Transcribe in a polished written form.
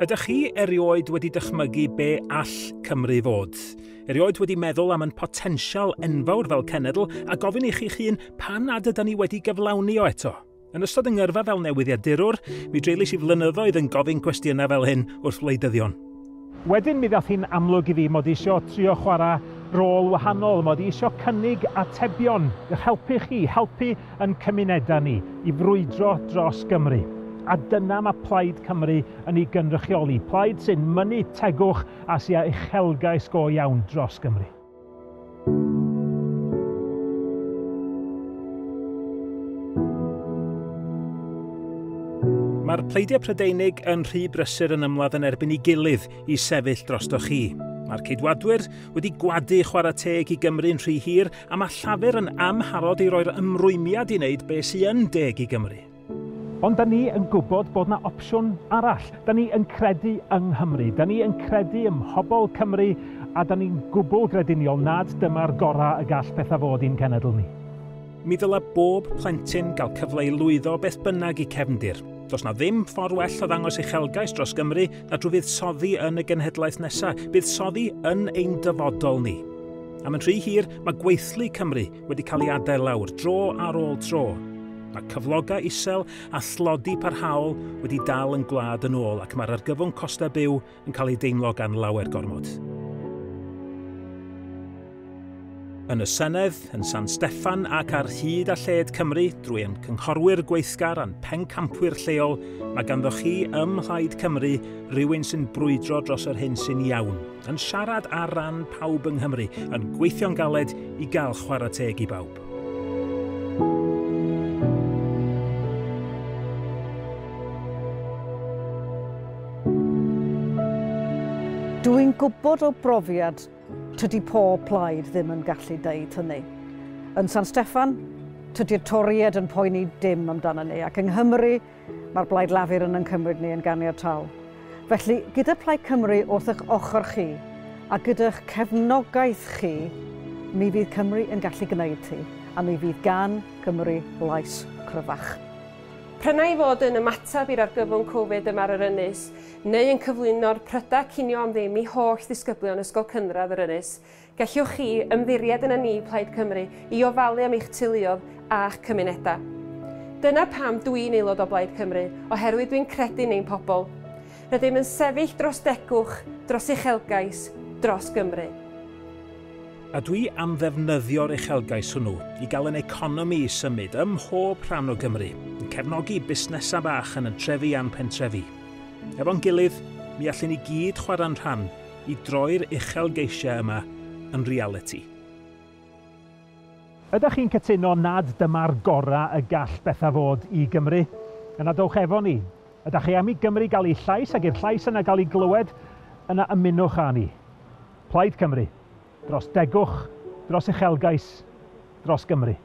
Ydych chi erioed wedi dychmygu be all Cymru fod? Erioed wedi meddwl am yn potensial enfawr fel cenedl a gofyn i chi'ch hun pam nad ydyn ni wedi gyflawni o eto? Yn ystod yng ngyrfa fel newyddiadurwr, mi dreulies i flynyddoedd yn gofyn cwestiynau fel hyn wrth wleidyddion. Wedyn mi ddath hi'n amlwg i fi mod i isio trio chwarae rôl wahanol, mod i isio cynnig atebion i'ch helpu chi, helpu yn cymunedau ni i frwydro dros Gymru. A dyna mae Plaid Cymru yn ei gynrychioli, plaid sy'n mynnu tegwch a sy â uchelgais go iawn dros Gymru. Mae'r pleidiau Prydeinig yn rhy brysur yn ymladd yn erbyn ei gilydd i sefyll drostoch chi. Mae'r Ceidwadwyr wedi gwadu chwarae teg i Gymru'n rhy hir a mae Llafur yn amharod i roi'r ymrwymiad i wneud beth sy'n yn deg i Gymru. Ond da ni yn gwybod bod na opsiwn arall. Da ni yn credu yng Nghymru, da ni yn credu ym mhobl Cymru a da ni'n gwbl grediniol nad dyma'r gorau y gall pethau fod i'n cenedl ni. Mi ddylai bob plentyn gael cyfle i lwyddo beth bynnag i cefndir. Does na ddim ffordd well o ddangos uchelgais dros Gymru na drwy fuddsoddi yn y genhedlaeth nesaf, buddsoddi yn ein dyfodol ni. Am yn rhy hir, mae gweithlu Cymru wedi cael ei adael lawr, dro ar ôl tro. Mae cyflogau isel a thlodi parhaol wedi dal yn gwlad yn ôl ac mae'r argyfwng costau byw yn cael ei deimlo gan lawer gormod. Yn y Senedd, yn San Steffan ac ar hyd a lled Cymru, drwy ein cynghorwyr gweithgar a'n pencampwyr lleol, mae ganddo chi ym Mhlaid Cymru rhywun sy'n brwydro dros yr hyn sy'n iawn, yn siarad ar ran pawb yng Nghymru, yn gweithio'n galed i gael chwarae teg i bawb. Dwi'n gwybod o brofiad tydi pob plaid ddim yn gallu deud hynny. Yn San Steffan, tydi'r Torïaid yn poeni dim amdano ni, ac yng Nghymru, mae'r Blaid Lafur yn cymryd ni yn ganiataol. Felly, gyda Plaid Cymru wrth eich ochr chi, a gyda'ch cefnogaeth chi, mi fydd Cymru yn gallu gwneud hi, a mi fydd gan Cymru lais cryfach. P'run ai fod yn ymateb i'r argyfwng Covid yma ar yr ynys, neu yn cyflwyno'r prydau cinio am ddim i holl ddisgyblion Ysgol Cynradd yr Ynys, gallwch chi ymddiried yn y ni Plaid Cymru i ofalu am eich teuluoedd a'ch cymunedau. Dyna pam dwi'n aelod o Blaid Cymru, oherwydd dwi'n credu yn ein pobl. Rydym yn sefyll dros degwch, dros uchelgais, dros Gymru. A dwi am ddefnyddio'r uchelgais hwnnw i gael yn economi i symud ym mhob rhan o Gymru, yn cefnogi busnesau bach yn y trefi a'n pentrefi. Efo'n gilydd, mi allwn ni gyd chwarae'n rhan i droi'r uchelgeisiau yma yn realiti. Ydych chi'n cytuno nad dyma'r gorau y gall bethau fod i Gymru? Yna dowch efo ni. Ydych chi am i Gymru gael ei llais ac i'r llais yna gael ei glywed? Yna ymunwch â ni. Plaid Cymru. Dros degwch, dros uchelgais, dros Gymru.